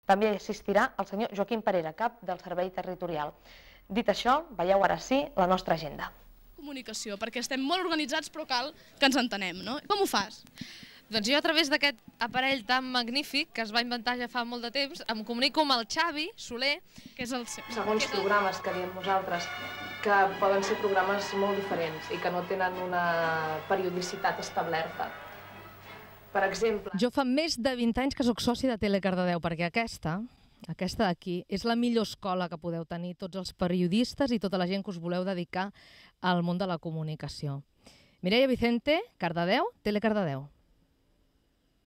També assistirà el senyor Joaquim Parera, cap del Servei Territorial. Dit això, veieu ara sí la nostra agenda. Comunicació, perquè estem molt organitzats però cal que ens entenem, no? Com ho fas? Doncs jo a través d'aquest aparell tan magnífic que es va inventar ja fa molt de temps em comunico amb el Xavi Soler, Que és el seu. Segons programes que diem nosaltres, que poden ser programes molt diferents i que no tenen una periodicitat establerta. Per exemple... Jo fa més de 20 anys que sóc soci de Tele Cardedeu, perquè aquesta d'aquí és la millor escola que podeu tenir tots els periodistes i tota la gent que us voleu dedicar al món de la comunicació. Mireia Vicente, Cardedeu, Tele Cardedeu.